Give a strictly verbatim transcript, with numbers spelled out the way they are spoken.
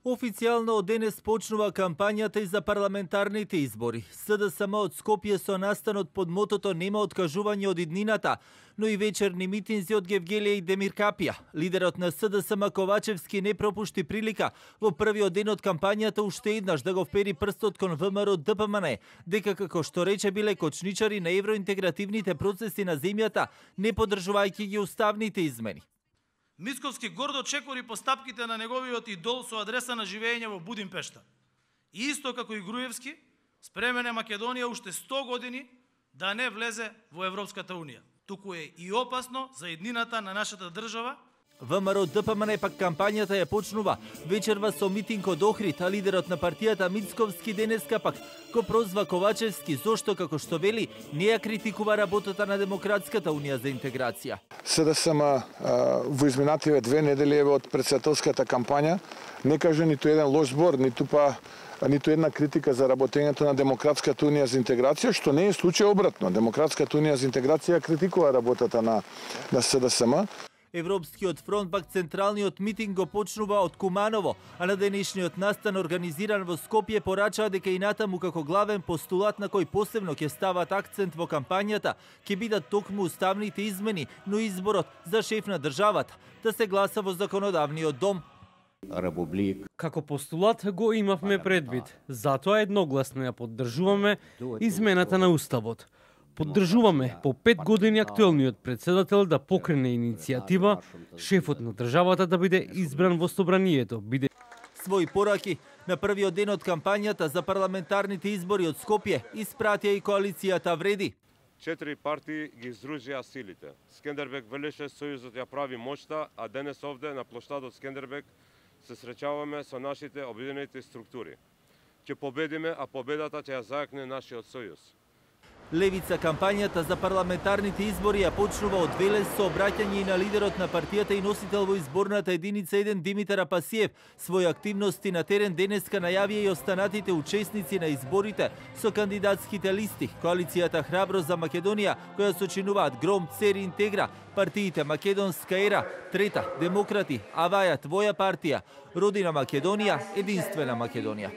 Официјално од денес почнува кампањата и за парламентарните избори. СДСМ од Скопје со настанот под мотото "Нема откажување од иднината", но и вечерни митинзи од Гевгелија и Демир Капија. Лидерот на СДСМ Ковачевски не пропушти прилика во првиот ден од кампањата уште еднаш да го впери прстот кон ВМРО ДПМН, дека како што рече биле кочничари на евроинтегративните процеси на земјата, не поддржувајќи ги уставните измени. Мицковски гордо чекори постапките на неговиот идол со адреса на живење во Будимпешта. И исто како и Груевски, спремен е Македонија уште сто години да не влезе во Европската Унија. Туку е и опасно за еднината на нашата држава. ВМРО ДПМН пак кампањата ја почнува вечерва со митинг од Охрид, а лидерот на партијата Мицковски денеска пак го прозва Ковачевски зошто, како што вели, не ја критикува работата на Демократската унија за интеграција. СДСМ во изминативе две недели од претседателската кампања не каже ниту еден лош збор, ниту па ниту една критика за работењето на Демократската унија за интеграција, што не е случај обратно. Демократската унија за интеграција критикува работата на на СДСМ. Европскиот фронт пак централниот митинг го почнува од Куманово, а на денешниот настан организиран во Скопје порачаа дека и натаму како главен постулат на кој посебно ќе стават акцент во кампањата ќе бидат токму уставните измени, но изборот за шеф на државата да се гласа во законодавниот дом. Како постулат го имавме предвид, затоа едногласно ја поддржуваме измената на уставот. Поддржуваме по пет години актуелниот претседател да покрене иницијатива, шефот на државата да биде избран во собранието. Биде... Своји пораки на првиот ден од кампањата за парламентарните избори од Скопје испратија и коалицијата Вреди. Четири партии ги издружија силите. Скендербек велеше сојузот ја прави моќта, а денес овде на плоштадот Скендербек се среќаваме со нашите обединети структури. Ќе победиме, а победата ќе ја зајакне нашиот сојуз. Левица кампањата за парламентарните избори ја почнува од Велес со обраќање и на лидерот на партијата и носител во изборната единица еден Димитар Апасиев. Своји активности на терен денеска најавија и останатите учесници на изборите со кандидатските листи. Коалицијата Храбро за Македонија, која сочинуваат Гром, Цери, Интегра, партиите Македонска ера, Трета, Демократи, Аваја, Твоја партија, Родина Македонија, Единствена Македонија.